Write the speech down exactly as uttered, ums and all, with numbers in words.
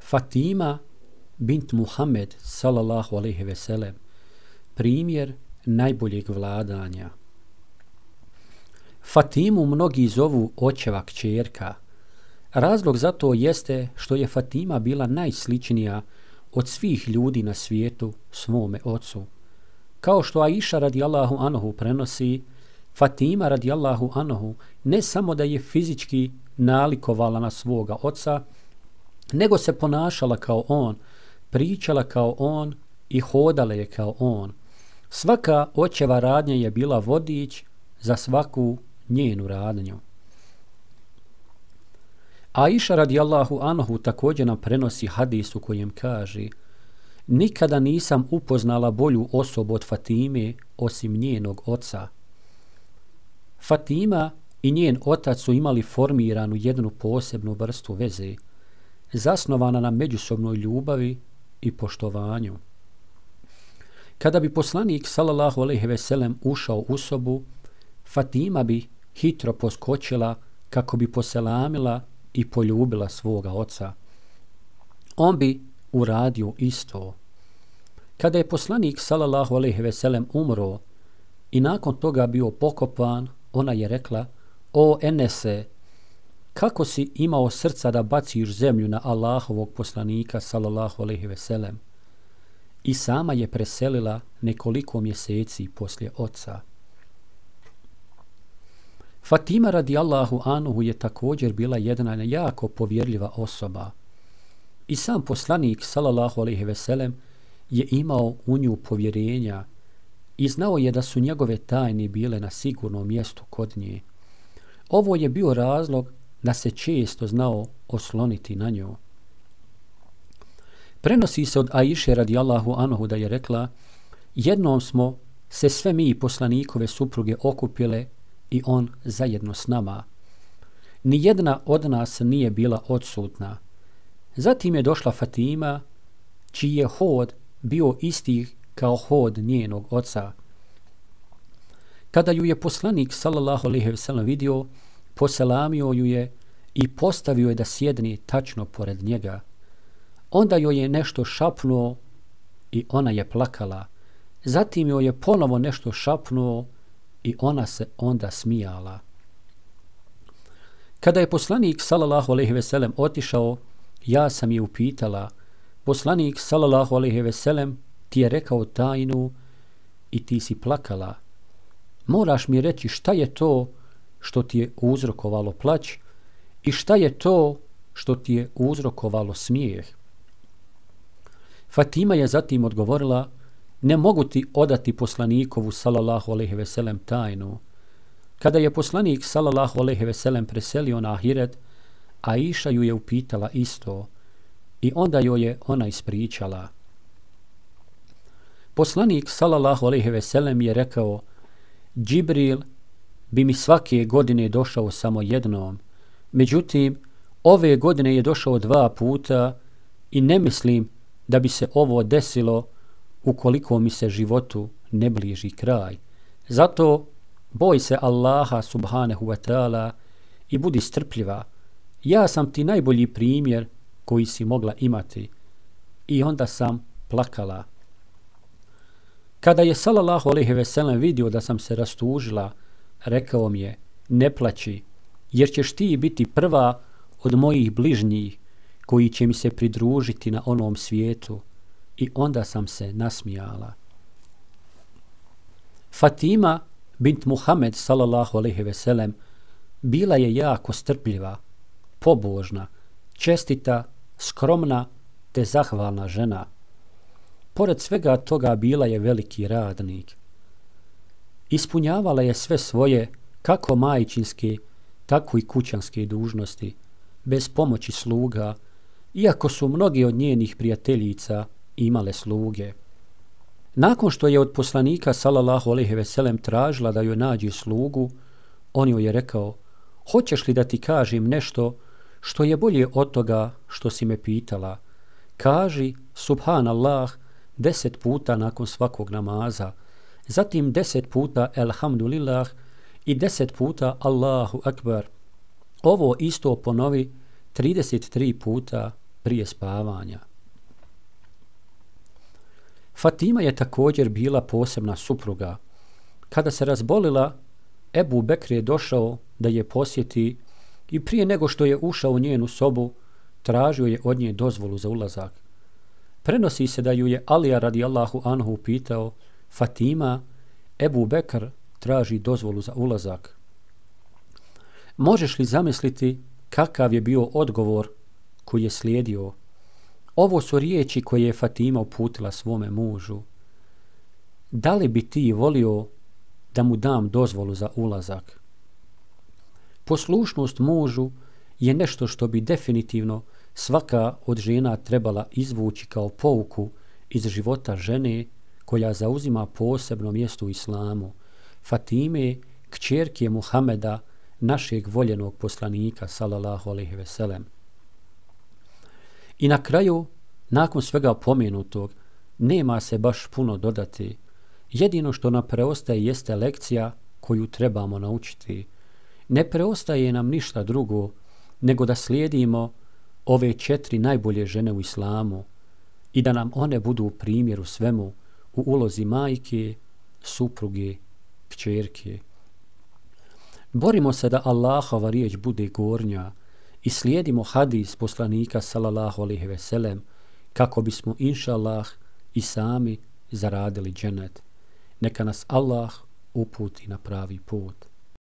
Fatima bint Muhammed sallallahu alejhi ve sellem, primjer najboljeg vladanja. Fatimu mnogi zovu očeva kćerka. Razlog za to jeste što je Fatima bila najsličnija od svih ljudi na svijetu svome ocu. Kao što Aisha radijallahu anhu prenosi, Fatima radijallahu anhu ne samo da je fizički nalikovala na svoga oca, nego se ponašala kao on, pričala kao on i hodala je kao on. Svaka očeva radnja je bila vodič za svaku njenu radnju. Aisha radijallahu anhu također nam prenosi hadis u kojem kaže: nikada nisam upoznala bolju osobu od Fatime osim njenog oca. Fatima i njen otac su imali formiranu jednu posebnu vrstu veze, zasnovana na međusobnoj ljubavi i poštovanju. Kada bi poslanik sallallahu alejhi ve sellem ušao u sobu, Fatima bi hitro poskočila kako bi poselamila i poljubila svoga oca. On bi uradio isto. Kada je poslanik sallallahu alejhi ve sellem umro i nakon toga bio pokopan, ona je rekla: o Enese, kako si imao srca da baciš zemlju na Allahovog poslanika sallallahu alejhi ve sellem? I sama je preselila nekoliko mjeseci poslije oca. Fatima radijallahu anhu je također bila jedna jako povjerljiva osoba. I sam poslanik sallallahu alejhi ve sellem je imao u nju povjerenja i znao je da su njegove tajne bile na sigurnom mjestu kod nje. Ovo je bio razlog da se često znao osloniti na nju. Prenosi se od Aiše radijallahu anhu da je rekla: jednom smo se sve mi poslanikove supruge okupile i on zajedno s nama. Nijedna od nas nije bila odsutna. Zatim je došla Fatima, čiji je hod bio isti kao hod njenog oca. Kada ju je poslanik sallallahu alejhi ve sellem vidio, poselamio ju je i postavio je da sjedne tačno pored njega. Onda joj je nešto šapnuo i ona je plakala. Zatim joj je ponovo nešto šapnuo i ona se onda smijala. Kada je poslanik sallallahu alejhi ve sellem otišao, ja sam je upitala: poslanik sallallahu alejhi ve sellem ti je rekao tajnu i ti si plakala. Moraš mi reći šta je to što ti je uzrokovalo plać i šta je to što ti je uzrokovalo smijeh. Fatima je zatim odgovorila: ne mogu ti odati poslanikovu sallallahu alejhi ve sellem tajnu. Kada je poslanik sallallahu alejhi ve sellem preselio na ahiret, Aisha ju je upitala isto i onda joj je ona ispričala. Poslanik sallallahu alejhi ve sellem je rekao: Džibril bi mi svake godine došao samo jednom, međutim ove godine je došao dva puta i ne mislim da bi se ovo desilo ukoliko mi se životu ne bliži kraj. Zato boj se Allaha subhanahu wa ta'ala i budi strpljiva. Ja sam ti najbolji primjer koji si mogla imati. I onda sam plakala. Kada je sallallahu alejhi ve sellem vidio da sam se rastužila, rekao mi je: ne plaći, jer ćeš ti biti prva od mojih bližnjih koji će mi se pridružiti na onom svijetu. I onda sam se nasmijala. Fatima bint Muhammed sallallahu alejhi ve sellem bila je jako strpljiva, pobožna, čestita, skromna te zahvalna žena. Pored svega toga bila je veliki radnik. Ispunjavala je sve svoje, kako majčinske, tako i kućanske dužnosti, bez pomoći sluga, iako su mnogi od njenih prijateljica imale sluge. Nakon što je od poslanika sallallahu alejhi ve sellem tražila da joj nađe slugu, on joj je rekao: hoćeš li da ti kažem nešto što je bolje od toga što si me pitala? Kaži subhanallah deset puta nakon svakog namaza, zatim deset puta elhamdulillah i deset puta Allahu akbar. Ovo isto ponovi trideset tri puta prije spavanja. Fatima je također bila posebna supruga. Kada se razbolila, Ebu Bekr je došao da je posjeti i prije nego što je ušao u njenu sobu, tražio je od nje dozvolu za ulazak. Prenosi se da ju je Alija radijallahu anhu pitao: Fatima, Ebu Bekr traži dozvolu za ulazak. Možeš li zamisliti kakav je bio odgovor koji je slijedio? Ovo su riječi koje je Fatima uputila svome mužu. Da li bi ti volio da mu dam dozvolu za ulazak? Poslušnost mužu je nešto što bi definitivno svaka od žena trebala izvući kao pouku iz života žene koja zauzima posebno mjesto u islamu, Fatime, kćerke Muhameda, našeg voljenog poslanika sallallahu alejhi ve sellem. I na kraju, nakon svega pomenutog, nema se baš puno dodati. Jedino što nam preostaje jeste lekcija koju trebamo naučiti. Ne preostaje nam ništa drugo nego da slijedimo ove četiri najbolje žene u islamu i da nam one budu primjer u svemu, u ulozi majke, supruge, kćerke. Borimo se da Allahova riječ bude gornja i slijedimo hadis poslanika sallallahu alejhi ve sellem kako bismo inšallah i sami zaradili dženet. Neka nas Allah uputi na pravi put.